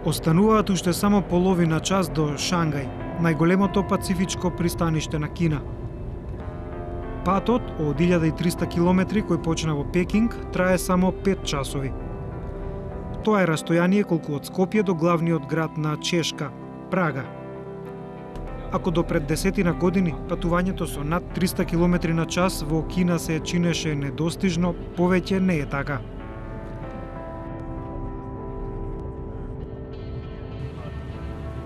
Остануваат уште само половина час до Шангај, најголемото пацифичко пристаниште на Кина. Патот од 1300 километри кој почна во Пекинг трае само 5 часови. Тоа е растојание колку од Скопје до главниот град на Чешка, Прага. Ако до пред 10 години патувањето со над 300 километри на час во Кина се чинеше недостижно, повеќе не е така.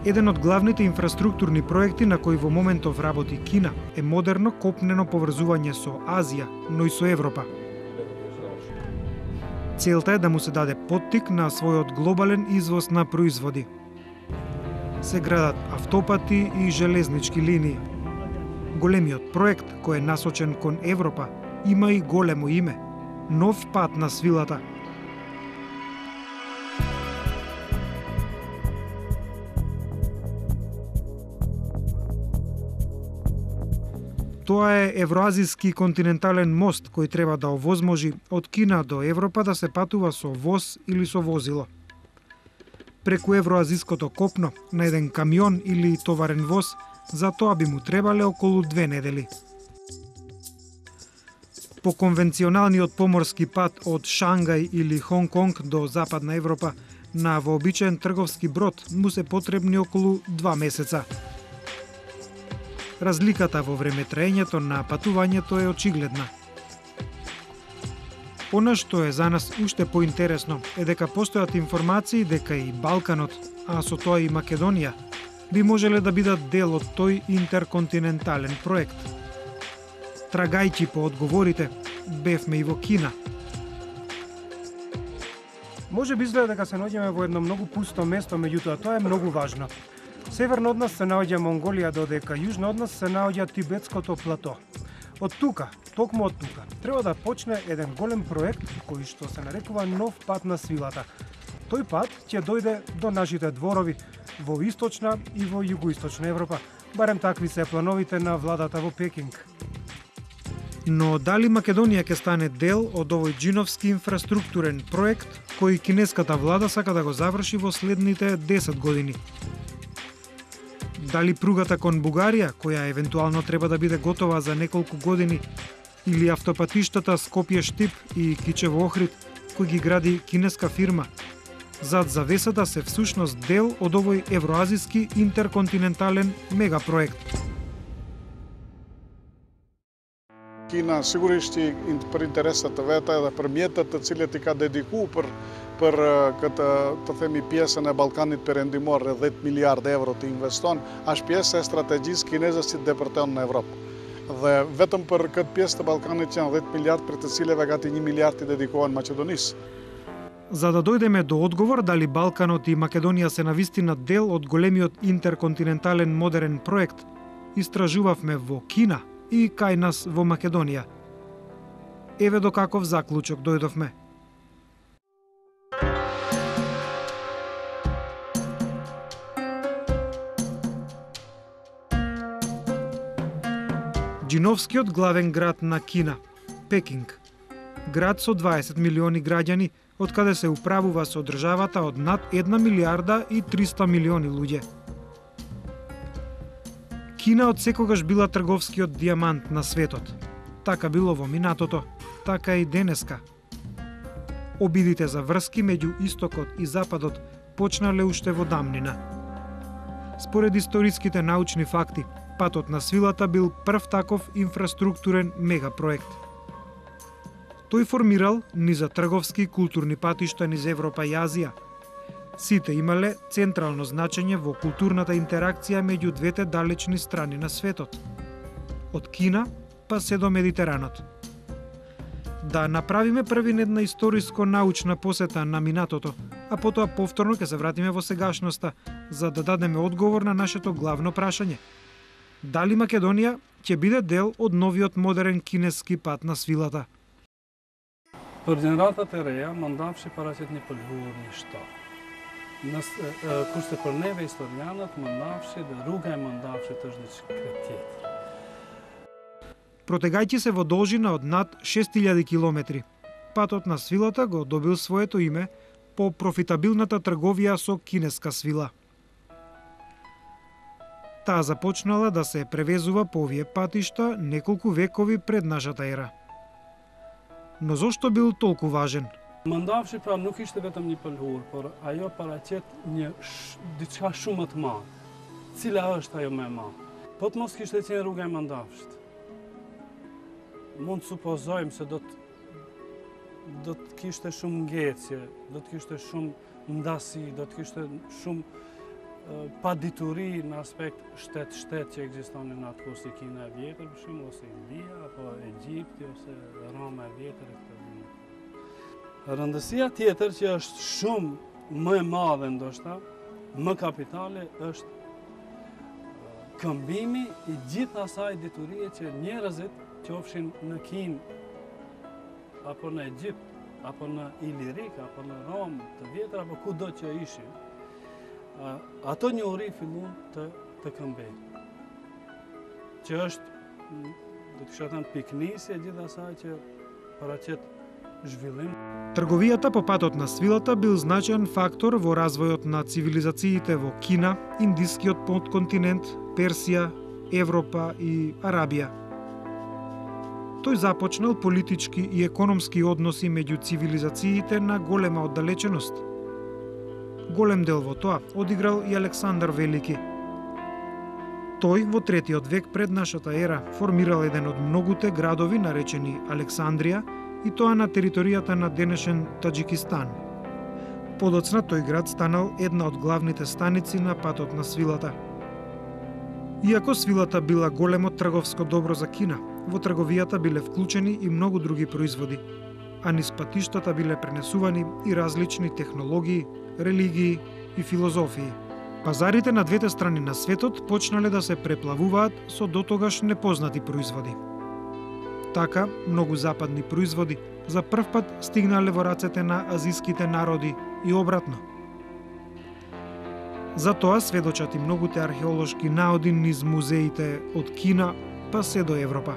Еден од главните инфраструктурни проекти на кои во моментов работи Кина е модерно копнено поврзување со Азија, но и со Европа. Целта е да му се даде поттик на својот глобален извоз на производи. Се градат автопати и железнички линии. Големиот проект, кој е насочен кон Европа, има и големо име – Нов пат на свилата. Тоа е евроазиски континентален мост кој треба да овозможи од Кина до Европа да се патува со воз или со возило. Преку евроазиското копно на еден камион или товарен воз, за тоа би му требале околу 2 недели. По конвенционалниот поморски пат од Шангај или Хонг Конг до Западна Европа на вообичаен трговски брод му се потребни околу 2 месеца. Разликата во време траењето на патувањето е очигледна. Она што е за нас уште поинтересно е дека постојат информации дека и Балканот, а со тоа и Македонија, би можеле да бидат дел од тој интерконтинентален проект. Трагајќи по одговорите, бевме и во Кина. Може би изгледа дека се наоѓаме во едно многу пусто место, меѓутоа тоа е многу важно. Северно од нас се наоѓа Монголија, додека јужно од нас се наоѓа Тибетското плато. Од тука, токму од тука, треба да почне еден голем проект кој што се нарекува Нов пат на свилата. Тој пат ќе дојде до нашите дворови во источна и во југоисточна Европа. Барем такви се плановите на владата во Пекинг. Но дали Македонија ќе стане дел од овој џиновски инфраструктурен проект кој кинеската влада сака да го заврши во следните 10 години? Дали пругата кон Бугарија, која евентуално треба да биде готова за неколку години, или автопатиштата Скопје-Штип и Кичево-Охрид, кој ги гради кинеска фирма, зад завесата се всушност дел од овој евроазиски интерконтинентален мегапроект. Кина сигурно ще per интересата вета да премиетата целите ка dedicu per të themi pjesën e Ballkanit Perëndimor, 10 miliardë euro të investon, është pjesë e strategjisë kineze si depërton në Evropë. Dhe vetëm për këtë pjesë të Ballkanit janë 10 miliardë, për të cilëve gati 1 miliard i dedikohen Maqedonisë. За да дојдеме до одговор дали Балканот и Македонија се навистина дел од големиот интерконтинентален модерен проект, истражувавме во Кина и кај нас во Македонија. Еве до каков заклучок дојдовме. Џиновскиот главен град на Кина, Пекинг. Град со 20 милиони граѓани, од каде се управува со државата од над 1 милиарда и 300 милиони луѓе. Кина од секогаш била трговскиот дијамант на светот. Така било во минатото, така и денеска. Обидите за врски меѓу истокот и западот почнале уште во дамнина. Според историските научни факти, патот на свилата бил прв таков инфраструктурен мегапроект. Тој формирал низа трговски и културни патишта низ Европа и Азија. Сите имале централно значење во културната интеракција меѓу двете далечни страни на светот. Од Кина па се до Медитеранот. Да направиме првин една историско-научна посета на минатото, а потоа повторно ќе се вратиме во сегашноста, за да дадеме одговор на нашето главно прашање. Дали Македонија ќе биде дел од новиот модерен кинески пат на свилата? Për gjeneratët e reja, më ndafshi paraqitet një pëlhurë një shtatë. Kurse për neve historianët mëndafshi dhe rruga e mëndafshit është diçka tjetër. Протегајќи се во должина од над 6000 километри, патот на свилата го добил своето име по профитабилната трговија со кинеска свила. Таа започнала да се превезува по овие патишта неколку векови пред нашата ера. Но зошто бил толку важен? Mëndafshi pra nuk ishte vetëm një pëlhur, por ajo paraqet diçka shumë më të madhe. Cila është ajo më e madhe? Po të mos kishte qenë rruga e Mëndafshit. Mund të supozojmë se do të kishte shumë ngjecje, do të kishte shumë ndasi, do të kishte shumë padituri në aspekt shtet-shtet që ekzistonin në atë kohë, si Kina e vjetër, për shembull, ose India, apo Egjipti, ose Roma e vjetër e këtë vit. Rëndësia tjetër që është shumë më e madhe ndoshta, më kapitale, është këmbimi i gjithë asaj diturie që njerëzit qofshin në Kinë, apo në Egjipt, apo në Ilirik, apo në Romë të vjetër, apo kudo që ishin, ato njohuri fillun të këmbejnë. Që është, do të kisha thënë, piknisje gjithë asaj që paraqet zhvillim. Трговијата по патот на свилата бил значаен фактор во развојот на цивилизациите во Кина, Индискиот потконтинент, Персија, Европа и Арабија. Тој започнал политички и економски односи меѓу цивилизациите на голема оддалеченост. Голем дел во тоа одиграл и Александар Велики. Тој во 3-тиот век пред нашата ера формирал еден од многуте градови наречени Александрија, и тоа на територијата на денешен Таџикистан. Подоцна тој град станал една од главните станици на патот на свилата. Иако свилата била големо трговско добро за Кина, во трговијата биле вклучени и многу други производи, а низ патиштата биле пренесувани и различни технологии, религии и филозофии. Пазарите на двете страни на светот почнале да се преплавуваат со дотогаш непознати производи. Така, многу западни производи за прв пат стигнале во рацете на азиските народи и обратно. За тоа сведочат и многуте археолошки наоди низ музеите од Кина па се до Европа.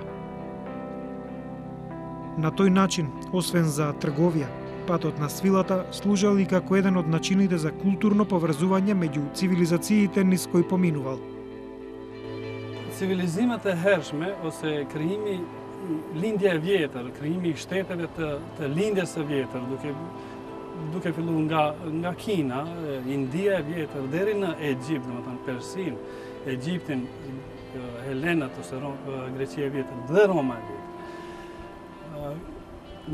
На тој начин, освен за трговија, патот на свилата служел и како еден од начините за културно поврзување меѓу цивилизациите низ кои поминувал. Civilizimit e hershme ose krijimi lindja e vjetër, krijimi i shteteve të lindjes së vjetër, duke filluar nga Kina, India e vjetër deri në Egjipt, domethënë Persin, Egjiptin, Helenat ose Greqia e vjetër dhe Roma e vjetër.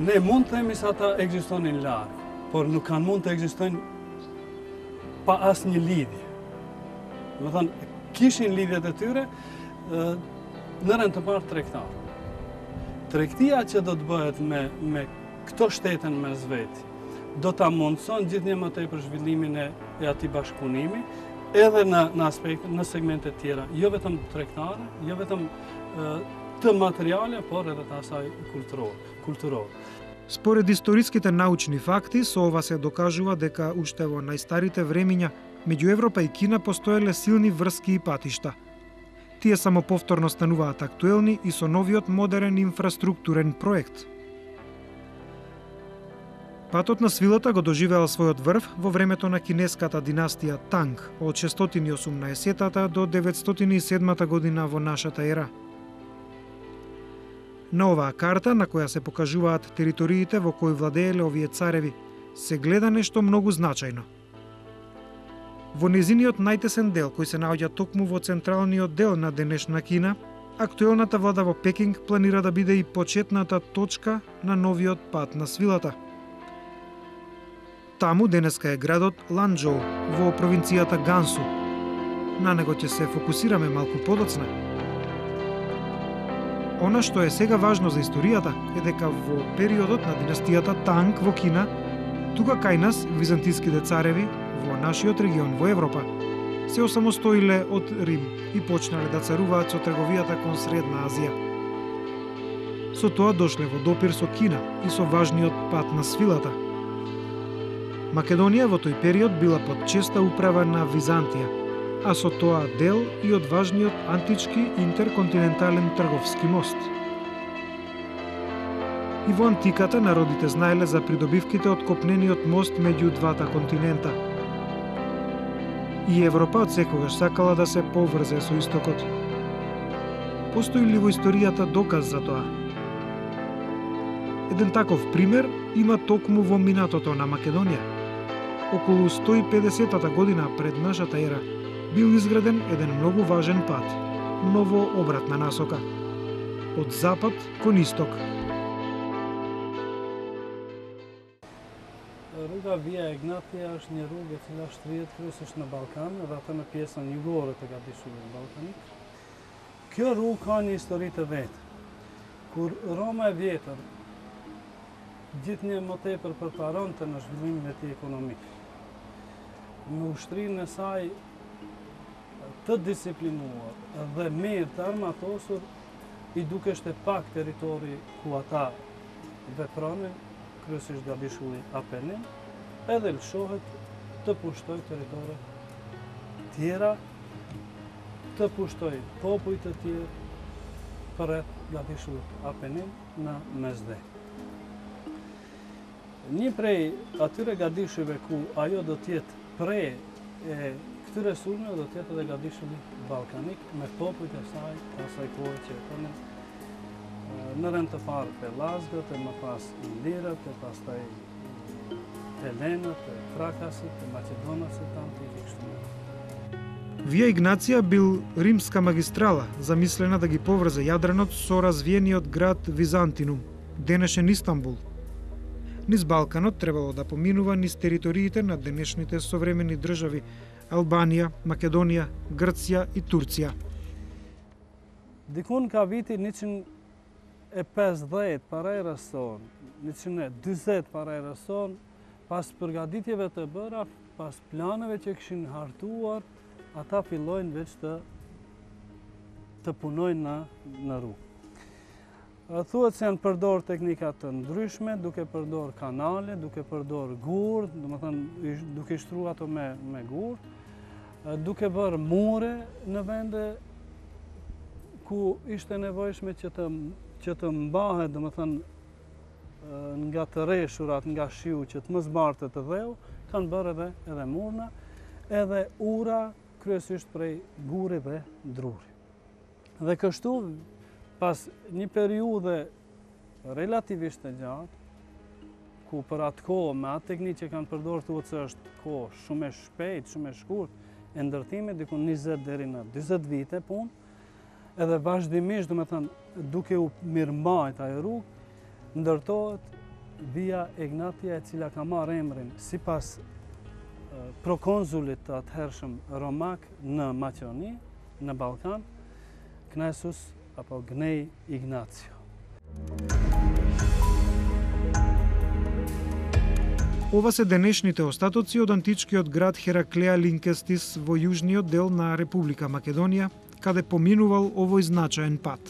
Ne mund të themi se ata ekzistonin larg, por nuk kanë mund të ekzistojnë pa asnjë lidhje. Domethënë kishin lidhjet e tyre në rend të parë tregtar. Tregtia që do të bëhet me këto shteten mes veti, do ta mundson gjithnjë më tepër zhvillimin e atij bashkëpunimi, edhe në aspekte, në segmente tjera, jo vetëm tregtare, jo vetëm të materiale, por edhe të asaj kulturore. Според историските научни факти, со ова се докажува дека уште во најстарите времиња меѓу Европа и Кина постоеле силни врски и патишта. Тие само повторно стануваат актуелни и со новиот модерен инфраструктурен проект. Патот на свилата го доживеал својот врв во времето на кинеската династија Танг од 618 до 907 година во нашата ера. На оваа карта, на која се покажуваат териториите во кои владееле овие цареви, се гледа нешто многу значајно. Во незиниот најтесен дел, кој се наоѓа токму во централниот дел на денешна Кина, актуелната влада во Пекинг планира да биде и почетната точка на новиот пат на свилата. Таму денеска е градот Ланџоу во провинцијата Гансу. На него ќе се фокусираме малку подоцна. Она што е сега важно за историјата е дека во периодот на династијата Танг во Кина, тука кај нас византиските цареви во нашиот регион во Европа се осамостоиле од Рим и почнале да царуваат со трговијата кон Средна Азија. Со тоа дошле во допир со Кина и со важниот пат на свилата. Македонија во тој период била под честа управа на Византија, а со тоа дел и од важниот антички интерконтинентален трговски мост. И во антиката народите знаеле за придобивките од копнениот мост меѓу двата континента. И Европа од секогаш сакала да се поврзе со истокот. Постои ли во историјата доказ за тоа? Еден таков пример има токму во минатото на Македонија. Околу 150-та година пред нашата ера бил изграден еден многу важен пат, но во обратна насока, од запад кон исток. Ruga Via Egnatia është një rrugë e cila shtrihet kryesisht në Ballkan dhe atë në pjesën jugore të Gadishullit ballkanik. Kjo rrugë ka një histori të vetë. Kur Roma e vjetër gjithnjë më tepër përparonte në zhvillimin e tij ekonomik, në ushtrinë e saj të disiplinuar dhe mirë të armatosur, i dukeshte pak territori ku ata vepronin, kryesisht Gadishulli Apenin, edhe lëshohet të pushtoj territore tjera, të pushtoj popuj të tjerë përreth Gadishullit Apenin në mesdhe. Një prej atyre gadishujve ku ajo do t'jetë prej e këtyre sulmeve do t'jetë edhe Gadishulli ballkanik me popujt e saj të asaj kohe që jetonin në rend të parë Pelazgët, e më pas Ilirët, e pastaj Helenët, e Trakasit, e Macedonasët antiki kështu me radhë. Вија Игнација бил римска магистрала, замислена да ги поврзе Јадранот со развиениот град Византинум, денешен Истанбул. Низ Балканот требало да поминува низ териториите на денешните современи држави Албанија, Македонија, Грција и Турција. Dikun ka viti 150 para erës sonë, 140 para erës sonë, pas përgatitjeve të bëra, pas planeve që kishin hartuar, ata fillojnë veç të punojnë në rrugë. Thuhet se janë përdor teknika të ndryshme, duke përdor kanale, duke përdor gur, duke shtruar ato me gur, duke bërë mure në vende ku ishte nevojshme që të mbahet, nga të reshurat, nga shiu, që të mos zbartet të dheu, kanë bërë edhe murna, edhe ura, kryesisht prej guri dhe druri. Dhe kështu, pas një periudhe relativisht të gjatë, ku për atë kohë, me atë teknikë që kanë përdorur, thuhet se është kohë shumë e shpejtë, shumë e shkurtë, e ndërtimit diku 20 deri në 40 vite punë, edhe vazhdimisht, duke u mirëmbajt ajo rrugë, ndërtohet Via Egnatia, e cila ka marrë emrin sipas prokonzulit të atëhershëm romak në Maqedoni, në Ballkan, Knaesus apo Gnej Ignacio. Ова се денешните остатоци од античкиот град Хераклеа Линкестис во јужниот дел на Република Македонија, каде поминувал овој значаен пат.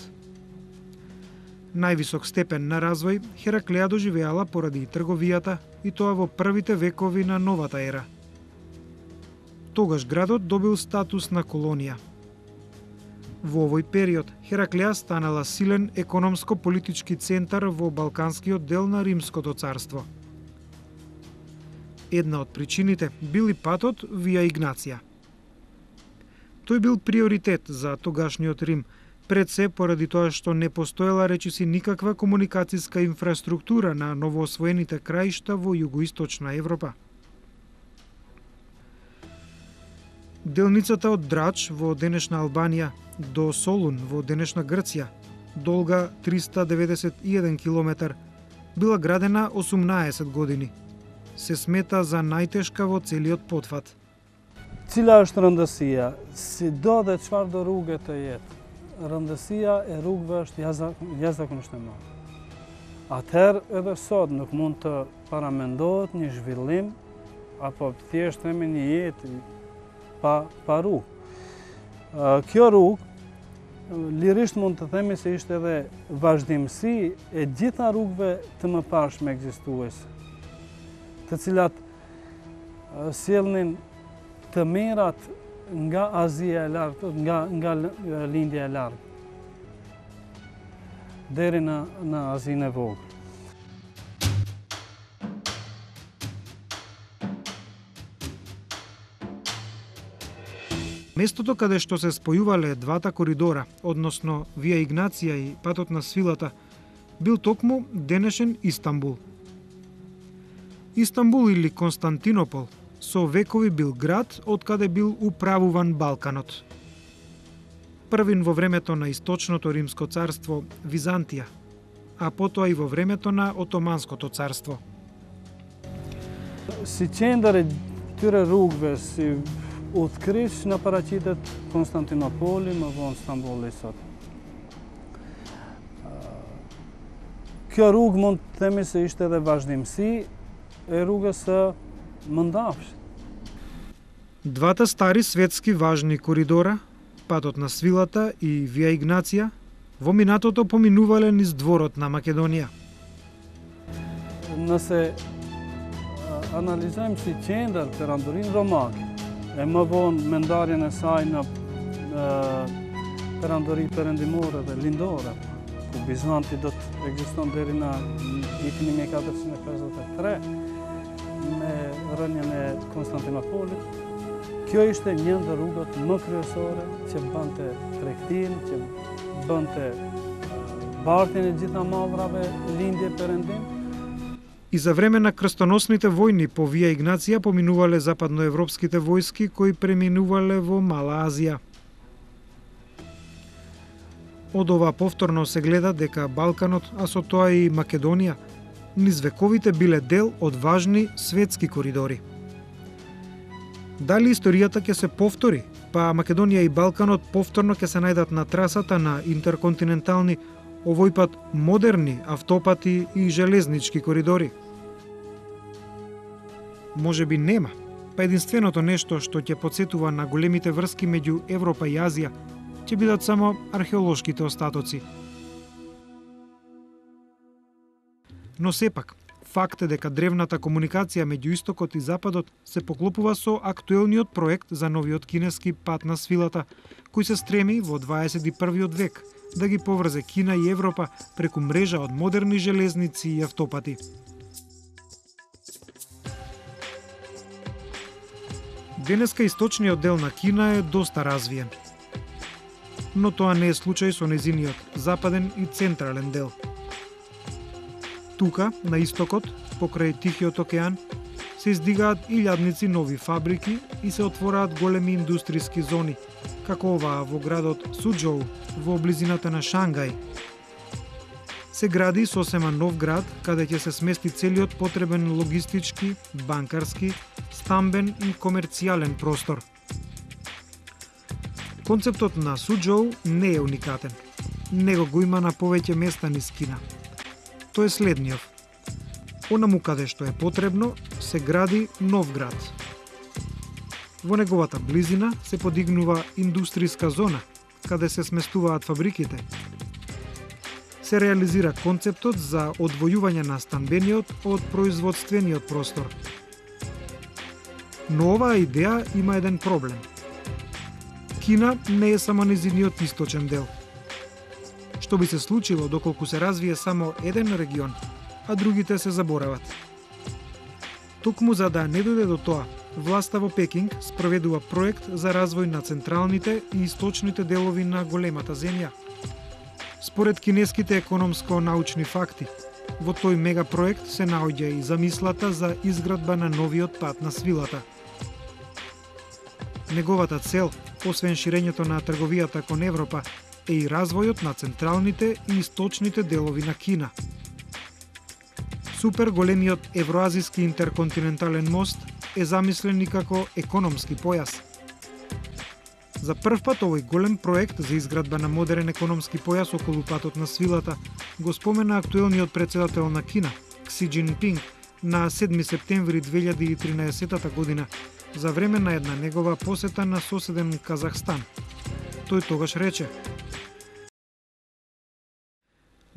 Највисок степен на развој Хераклеа доживеала поради трговијата, и тоа во првите векови на новата ера. Тогаш градот добил статус на колонија. Во овој период Хераклеа станала силен економско-политички центар во балканскиот дел на Римското царство. Една од причините бил и патот Вија Игнација. Тој бил приоритет за тогашниот Рим, пред се поради тоа што не постоела речиси никаква комуникацијска инфраструктура на новоосвоените краишта во југоисточна Европа. Делницата од Драч во денешна Албанија до Солун во денешна Грција, долга 391 километар, била градена 18 години. Се смета за најтешка во целиот потфат. Cila është rëndësia? Sido dhe çfarë do rrugë të jetë, rëndësia e rrugëve është jashtëzakonisht e madhe. Atëherë edhe sot nuk mund të paramendohet një zhvillim apo thjesht themi një jetë pa rrugë. Kjo rrugë lirisht mund të themi se ishte edhe vazhdimsi e gjitha rrugëve të mëparshme ekzistuese, të cilat sjellnin të mirat nga Azia e lartë, nga lindja e lartë, deri në Azinë e vogël. Местото каде што се спојувале двата коридора, односно Вија Игнација и патот на свилата, бил токму денешен Истанбул. Истанбул или Константинопол со векови бил град од каде бил управуван Балканот. Првин во времето на Источното Римско царство Византија, а потоа и во времето на Отоманското царство. Si qendër e tyre rrugëve, si udhëkryq në paraqitet Konstantinopoli, më vonë Stambolli sot. Kjo rrugë mund të themi se ishte edhe vazhdimsi e rrugës së Mëndafshit. Двата стари светски важни коридора, патот на свилата и Вија Игнација, во минатото поминувале низ дворот на Македонија. Nëse analizojmë si qendër perandorinë romake, e më vonë me ndarjen e saj në perandori perëndimore dhe lindore, ku Bizanti do të ekziston deri në vitin 1453, me rënien e Konstantinopolit. Kjo ishte një ndër rrugët më kryesore që bënte tregtinë, që bënte bartjen e gjitha mavrave lindje perëndim. И за време на крстоносните војни по Вија Игнација поминувале западноевропските војски кои преминувале во Мала Азија. Од ова повторно се гледа дека Балканот, а со тоа и Македонија, низ вековите биле дел од важни светски коридори. Дали историјата ќе се повтори, па Македонија и Балканот повторно ќе се најдат на трасата на интерконтинентални, овој пат модерни автопати и железнички коридори? Може би нема, па единственото нешто што ќе потсетува на големите врски меѓу Европа и Азија ќе бидат само археолошките остатоци. Но сепак, факт е дека древната комуникација меѓу Истокот и Западот се поклопува со актуелниот проект за новиот кинески пат на свилата, кој се стреми во 21. век да ги поврзе Кина и Европа преку мрежа од модерни железници и автопати. Денеска источниот дел на Кина е доста развиен. Но тоа не е случај со незиниот западен и централен дел. Тука, на истокот, покрај Тихиот океан, се издигаат илјадници нови фабрики и се отвораат големи индустријски зони, како оваа во градот Суџоу, во близината на Шангај. Се гради сосема нов град, каде ќе се смести целиот потребен логистички, банкарски, стамбен и комерцијален простор. Концептот на Суџоу не е уникатен. Него го има на повеќе места низ Кина. Тој е следниот. Онаму каде што е потребно, се гради нов град. Во неговата близина се подигнува индустријска зона, каде се сместуваат фабриките. Се реализира концептот за одвојување на станбениот од производствениот простор. Но оваа идеја има еден проблем. Кина не е само незиниот источен дел. Што би се случило доколку се развие само еден регион, а другите се заборават? Токму за да не дојде до тоа, власта во Пекинг спроведува проект за развој на централните и источните делови на големата земја. Според кинеските економско-научни факти, во тој мегапроект се наоѓа и замислата за изградба на новиот пат на свилата. Неговата цел, освен ширењето на трговијата кон Европа, е и развојот на централните и источните делови на Кина. Супер големиот евроазиски интерконтинентален мост е замислен и како економски појас. За прв пат овој голем проект за изградба на модерен економски појас околу патот на свилата го спомена актуелниот председател на Кина, Кси Џинпинг, на 7 септември 2013 година, за време на една негова посета на соседен Казахстан. Тој тогаш рече: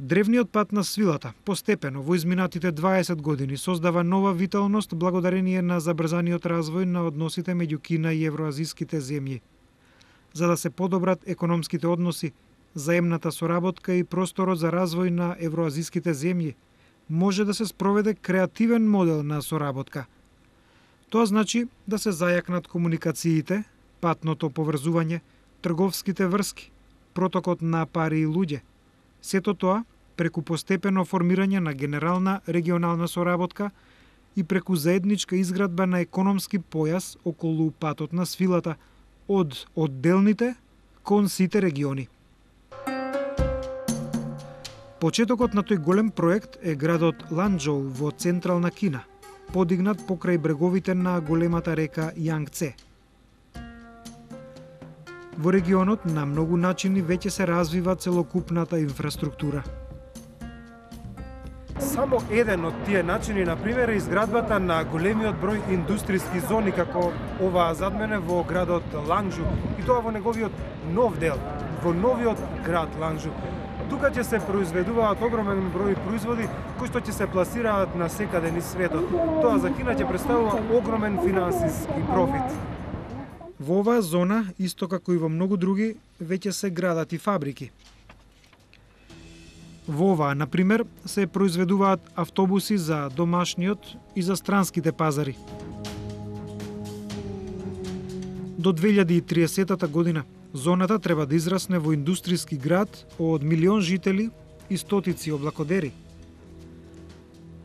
Древниот пат на свилата постепено во изминатите 20 години создава нова виталност благодарение на забрзаниот развој на односите меѓу Кина и евроазиските земји. За да се подобрат економските односи, заемната соработка и просторот за развој на евроазиските земји, може да се спроведе креативен модел на соработка. Тоа значи да се зајакнат комуникациите, патното поврзување, трговските врски, протокот на пари и луѓе. Сето тоа преку постепено формирање на генерална регионална соработка и преку заедничка изградба на економски појас околу патот на свилата од одделните кон сите региони. Почетокот на тој голем проект е градот Ланчжоу во централна Кина, подигнат покрај бреговите на големата река Јангце. Во регионот на многу начини веќе се развива целокупната инфраструктура. Само еден од тие начини, например, е изградбата на големиот број индустријски зони, како оваа зад мене во градот Ланчжоу, и тоа во неговиот нов дел, во новиот град Ланчжоу. Тука ќе се произведуваат огромен број производи кои што ќе се пласираат на секаде низ светот. Тоа за Кина ќе представува огромен финансиски профит. Во оваа зона, исто како и во многу други, веќе се градат и фабрики. Во оваа, например, се произведуваат автобуси за домашниот и за странските пазари. До 2030 година зоната треба да израсне во индустријски град од 1 милион жители и стотици облакодери.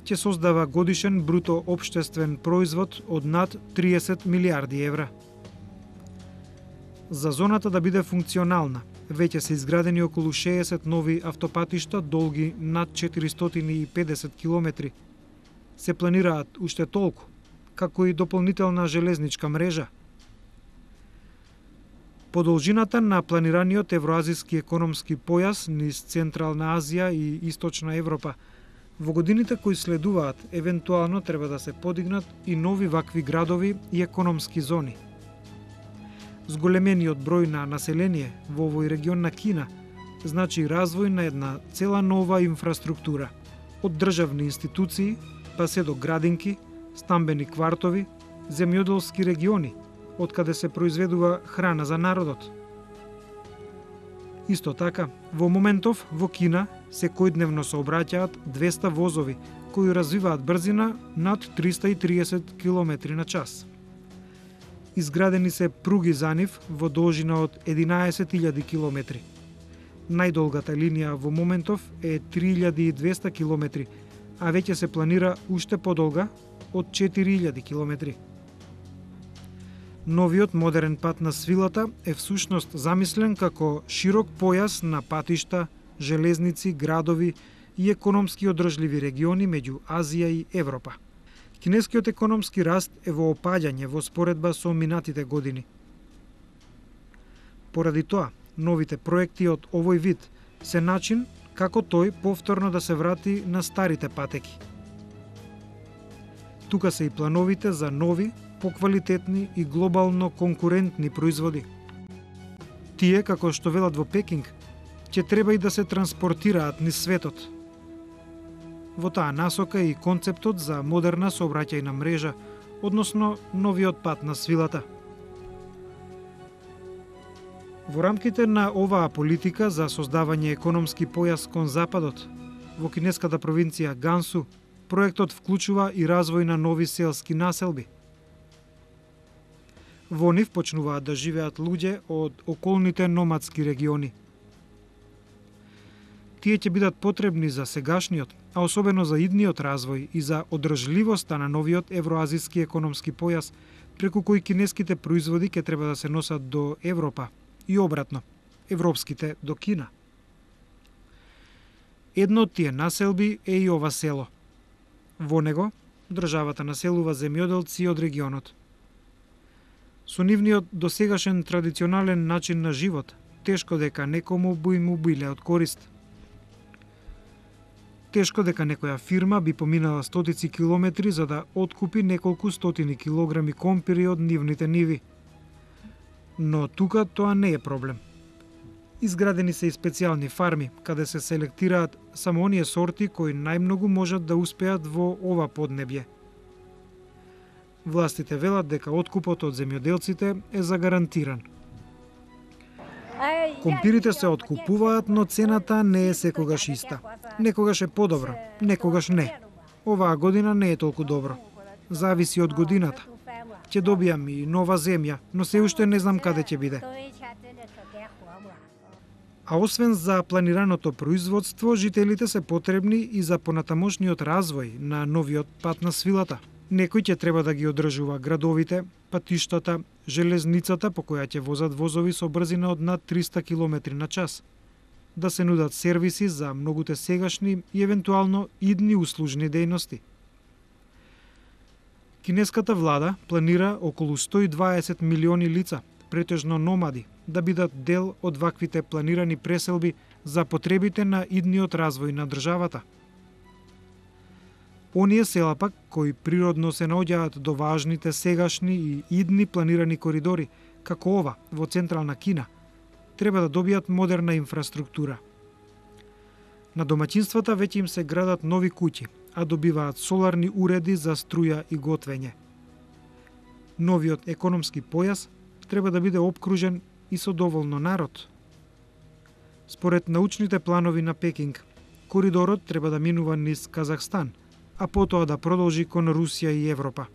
Ќе создава годишен бруто општествен производ од над 30 милиарди евра. За зоната да биде функционална, веќе се изградени околу 60 нови автопатишта долги над 450 километри. Се планираат уште толку, како и дополнителна железничка мрежа. По должината на планираниот евроазиски економски појас низ Централна Азија и Источна Европа, во годините кои следуваат, евентуално треба да се подигнат и нови вакви градови и економски зони. Зголемениот број на население во овој регион на Кина значи развој на една цела нова инфраструктура, од државни институции, па се до градинки, стамбени квартови, земјоделски региони, од каде се произведува храна за народот. Исто така, во моментов во Кина секојдневно сообраќаат 200 возови кои развиваат брзина над 330 км на час. Изградени се пруги за нив во должина од 11.000 км. Најдолгата линија во моментов е 3200 км, а веќе се планира уште подолга од 4000 км. Новиот модерен пат на свилата е всушност замислен како широк појас на патишта, железници, градови и економски одржливи региони меѓу Азија и Европа. Кинескиот економски раст е во опаѓање во споредба со минатите години. Поради тоа, новите проекти од овој вид се начин како тој повторно да се врати на старите патеки. Тука се и плановите за нови, поквалитетни и глобално конкурентни производи. Тие, како што велат во Пекинг, ќе треба и да се транспортираат низ светот. Во таа насока и концептот за модерна сообраќајна мрежа, односно новиот пат на свилата. Во рамките на оваа политика за создавање економски појас кон западот, во кинеската провинција Гансу, проектот вклучува и развој на нови селски населби. Во нив почнуваат да живеат луѓе од околните номадски региони. Тие ќе бидат потребни за сегашниот, а особено за идниот развој и за одржливоста на новиот евроазиски економски појас, преку кој кинеските производи ќе треба да се носат до Европа и обратно, европските до Кина. Едно од тие населби е и ова село. Во него државата населува земјоделци од регионот. Со нивниот досегашен традиционален начин на живот, тешко дека некому би му биле од корист. Тешко дека некоја фирма би поминала стотици километри за да откупи неколку стотини килограми компири од нивните ниви. Но тука тоа не е проблем. Изградени се и специјални фарми, каде се селектираат само оние сорти кои најмногу можат да успеат во ова поднебје. Властите велат дека откупот од земјоделците е загарантиран. Компирите се откупуваат, но цената не е секогаш иста. Некогаш е подобра, некогаш не. Оваа година не е толку добро. Зависи од годината. Ќе добијам и нова земја, но се уште не знам каде ќе биде. А освен за планираното производство, жителите се потребни и за понатамошниот развој на новиот пат на свилата. Некој ќе треба да ги одржува градовите, патиштата, железницата по која ќе возат возови со брзина од над 300 км на час. Да се нудат сервиси за многуте сегашни и евентуално идни услужни дејности. Кинеската влада планира околу 120 милиони лица, претежно номади, да бидат дел од ваквите планирани преселби за потребите на идниот развој на државата. Оние села пак, кои природно се наоѓаат до важните сегашни и идни планирани коридори, како ова во централна Кина, треба да добијат модерна инфраструктура. На домаќинствата веќе им се градат нови куќи, а добиваат соларни уреди за струја и готвење. Новиот економски појас треба да биде обкружен и со доволно народ. Според научните планови на Пекинг, коридорот треба да минува низ Казахстан, а потоа да продолжи кон Русија и Европа.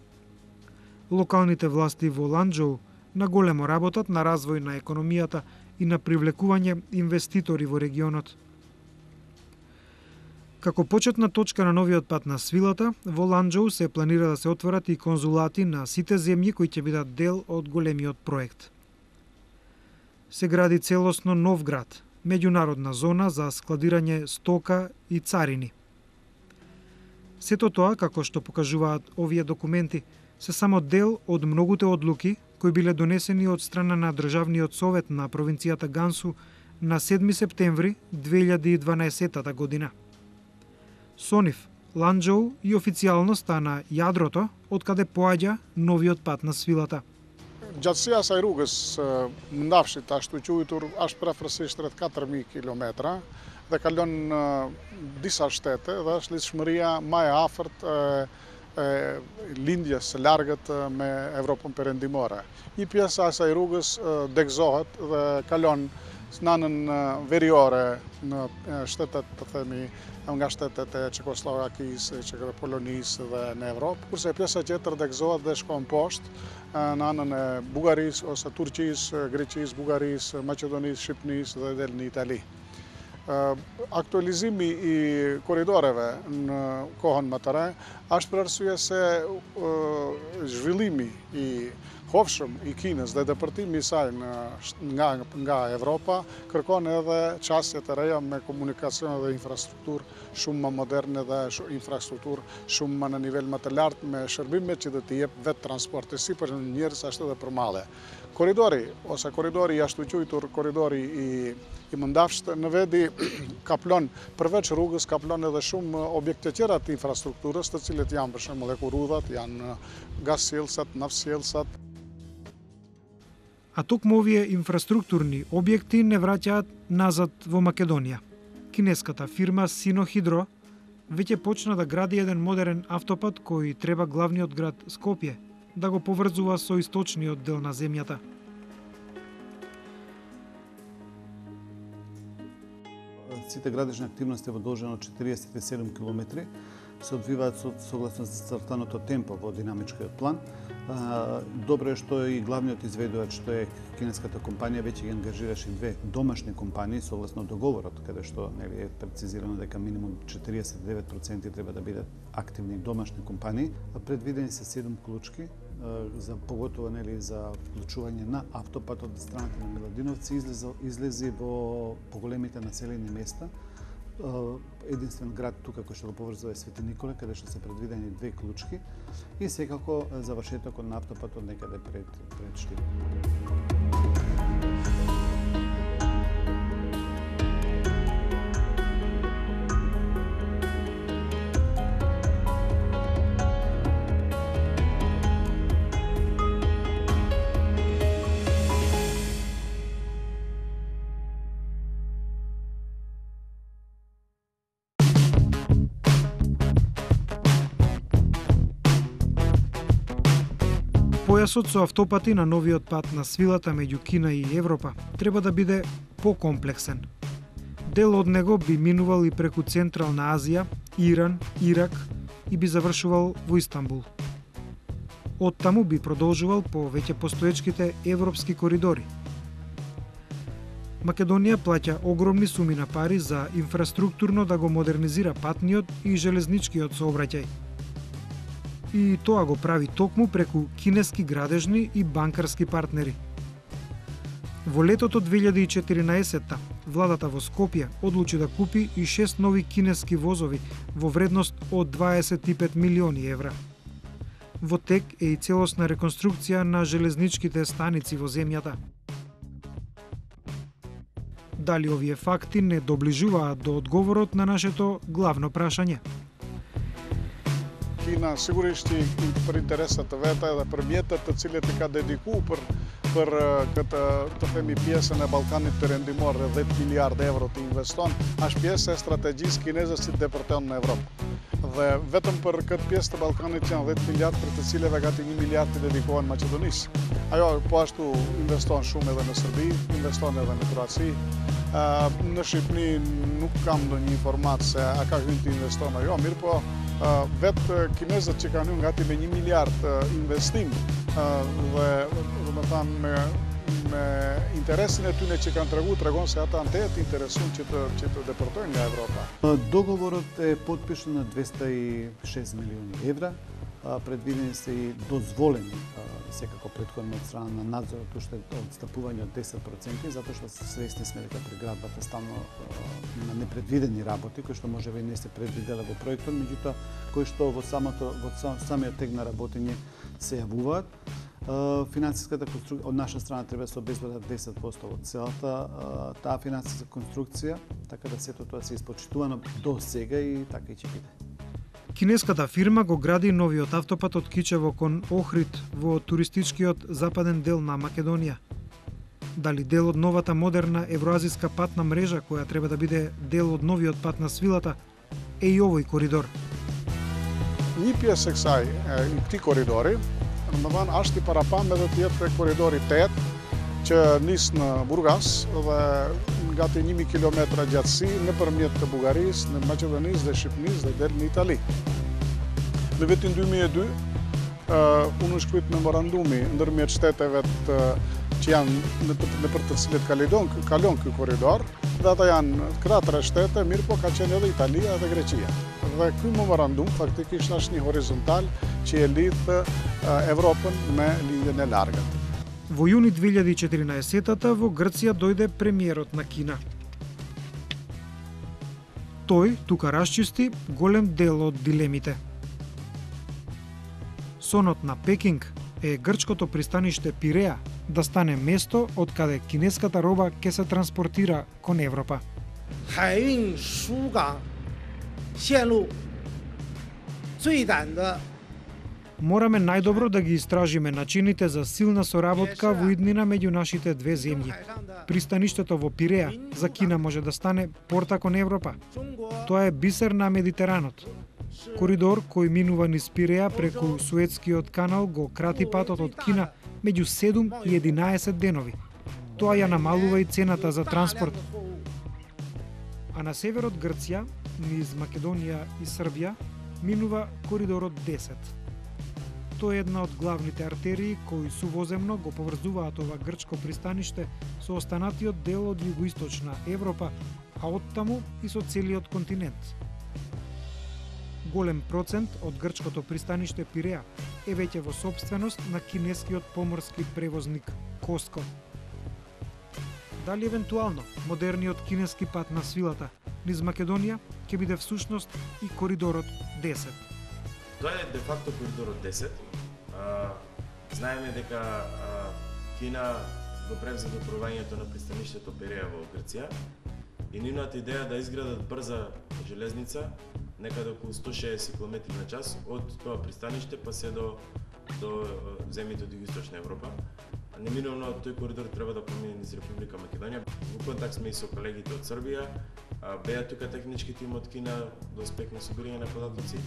Локалните власти во Ланџоу наголемо работат на развој на економијата и на привлекување инвеститори во регионот. Како почетна точка на новиот пат на свилата, во Ланџоу се планира да се отворат и конзулати на сите земји кои ќе бидат дел од големиот проект. Се гради целосно нов град, меѓународна зона за складирање стока и царини. Сето тоа, како што покажуваат овие документи, се само дел од многуте одлуки кои биле донесени од страна на Државниот совет на провинцијата Гансу на 7 септември 2012 година. Со нив, Ланџоу и официјално стана јадрото од каде поаѓа новиот пат на свилата. Gjatësia e asaj rrugës ndafshit ashtu quajtur është përafërsisht rreth 4000 kilometra dhe kalon disa shtete dhe është lidhshmëria më e afërt e lindjes së largët me Evropën perëndimore. Një pjesë e asaj rrugës degëzohet dhe kalon në anën veriore në shtetet, të themi, nga shtetet e Çekosllowakisë, Polonisë dhe në Evropë, kurse pjesa tjetër degëzohet dhe shkon poshtë në anën e Bugarisë ose Turqisë, Greqisë, Bugarisë, Maqedonisë, Shqipërisë dhe del në Itali. Aktualizimi i korridoreve në kohën më të re është për arsye se zhvillimi i hofshëm i Kinës dhe depërtimi i saj nga Evropa kërkon edhe çësje të reja me komunikacion dhe infrastrukturë shumë më moderne dhe infrastrukturë shumë më në nivel më të lartë me shërbime që do t'i jep vetë transporti si për njerëz ashtu edhe për mallë. Koridori ose koridori jashtu quajtur koridori i Mëndafsht në vedi kaplon përveç rrugës kaplon edhe shumë objekte tjera të infrastrukturës, të cilët janë për shembull ekurrudhat, janë gassjellsat, naftsjellsat. А токму овие инфраструктурни објекти не враќаат назад во Македонија. Кинеската фирма Синохидро веќе почна да гради еден модерен автопат кој треба главниот град Скопје да го поврзува со источниот дел на земјата. Сите градежни активности во должина од 47 км се одвиваат согласно зацртаното темпо во динамичкиот план. Добро е што и главниот изведувач, што е кинеската компанија, веќе ги ангажираше две домашни компании согласно договорот, каде што е прецизирано дека минимум 49% треба да бидат активни домашни компании. Предвидени се 7 клучки за поготово за вклучување на автопатот од страната на Миладиновци излези во поголемите населени места. Единствен град тука кој што го поврзува е Свети Николе, каде што се предвидени 2 клучки и секако завршетокот на автопатот некаде пред Штип. Појасот со автопати на новиот пат на свилата меѓу Кина и Европа треба да биде покомплексен. Дел од него би минувал и преку Централна Азија, Иран, Ирак и би завршувал во Истанбул. Од таму би продолжувал по веќе постоечките европски коридори. Македонија плаќа огромни суми на пари за инфраструктурно да го модернизира патниот и железничкиот сообраќај. И тоа го прави токму преку кинески градежни и банкарски партнери. Во летото 2014 владата во Скопје одлучи да купи и 6 нови кинески возови во вредност од 25 милиони евра. Во тек е и целосна реконструкција на железничките станици во земјата. Дали овие факти не доближуваат до одговорот на нашето главно прашање? Кина сигурно per interesat veta da përmjetet të cilët i ka dedikuar për këtë të themi pjesën e Ballkanit Perëndimor, 10 miliardë euro të investon, është pjesë e strategjisë kineze që depërton në Evropë. Dhe vetëm për këtë pjesë të Ballkanit janë 10 miliardë, për të cilëve gati 1 miliard të dedikohen Maqedonisë. Ajo po ashtu investon shumë edhe në Serbi, investon edhe në Kroaci. Në Shqipëri nuk kam ndonjë informatë se a ka hyrë të investon ajo, mirë po vetë kinezët që kanë hyrë gati me 1 miliard investim dhe do të thënë me интересin e tyre që kanë tregon se ata janë të interesuar që të deportojnë nga Европа. Договорот е подпишан на 206 милиони евра. Предвидени се и дозволени секако претходно од страна на надзорот уште одстапување од 10%, затоа што свесни сме дека преградбата стално на непредвидени работи, кои што можеби и не се предвиделе во проектот, меѓутоа кои што во самиот тек на работење се јавуваат. Финансиската конструкција од наша страна треба да се обезбедат 10% од целата таа финансиска конструкција, така да сето тоа се испочитувано до сега и така и ќе биде. Кинеската фирма го гради новиот автопат од Кичево кон Охрид во туристичкиот западен дел на Македонија. Дали дел од новата модерна евроазиска патна мрежа која треба да биде дел од новиот пат на свилата е и овој коридор. Një pjesë e këtij korridori, domethënë është i parapam edhe të jetë korridori 8 që nis në Burgas dhe gati 1000 kilometra gjatësi nëpërmjet të Bugarisë, në Maqedonisë dhe Shqipërisë dhe del në Itali. Në vitin 2002 unë shkruajt memorandumi ndërmjet shteteve që janë nëpër të cilët kalon ky korridor, dhe ata janë këta 3 shtete, mirë po ka qenë edhe Italia dhe Greqia. Dhe ky memorandum faktikisht është një horizontal që e lidh Evropën me linjën e largët. Во јуни 2014 во Грција дојде премиерот на Кина. Тој тука расчисти голем дел од дилемите. Сонот на Пекинг е грчкото пристаниште Пиреа да стане место од каде кинеската роба ќе се транспортира кон Европа. 海运输港线路最短的 Мораме најдобро да ги истражиме начините за силна соработка во иднина меѓу нашите две земји. Пристаништето во Пиреа за Кина може да стане порта кон Европа. Тоа е бисер на Медитеранот. Коридор кој минува низ Пиреа преку Суетскиот канал го крати патот од Кина меѓу 7 и 11 денови. Тоа ја намалува и цената за транспорт. А на северот Грција, низ Македонија и Србија, минува коридорот 10. Тоа е една од главните артерии кои сувоземно го поврзуваат ова грчко пристаниште со останатиот дел од југоисточна Европа, а оттаму и со целиот континент. Голем процент од грчкото пристаниште Пиреа е веќе во сопственост на кинескиот поморски превозник Коско. Дали евентуално модерниот кинески пат на свилата низ Македонија ќе биде всушност и коридорот 10? Тоа е де факто коридорот 10. Знаеме дека Кина го превзеде управувањето на пристаништето Пиреа во Грција и нивната идеја да изградат брза железница некаде околу 160 км на час од тоа пристаниште па се до земјите од Југоисточна Европа. Неминовно тој коридор треба да помине низ Република Македонија. Во контакт сме и со колегите од Србија, беа тука технички тим од Кина да успех на собирање на податоци.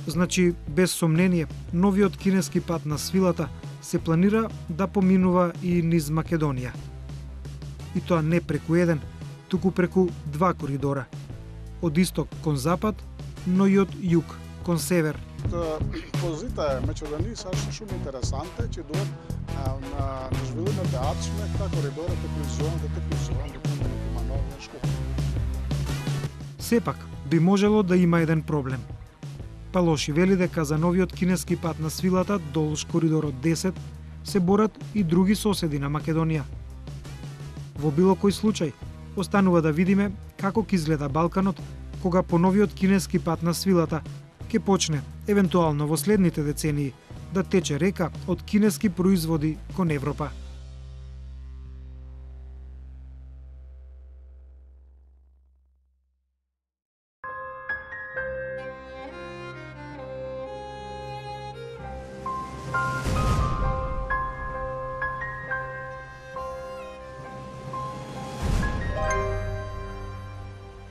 Значи, без сомнение, новиот кинески пат на свилата се планира да поминува и низ Македонија. И тоа не преку еден, туку преку два коридора. Од исток кон запад, но и од југ кон север. Позита е меѓу да ни сашто шум интересанте, че до на жвилината ацмекта коридорот е призован да има нова школа. Сепак, би можело да има еден проблем. Палоши вели дека за новиот кинески пат на свилата долж коридорот 10 се борат и други соседи на Македонија. Во било кој случај, останува да видиме како ќе изгледа Балканот кога по новиот кинески пат на свилата ќе почне, евентуално во следните децении, да тече река од кинески производи кон Европа.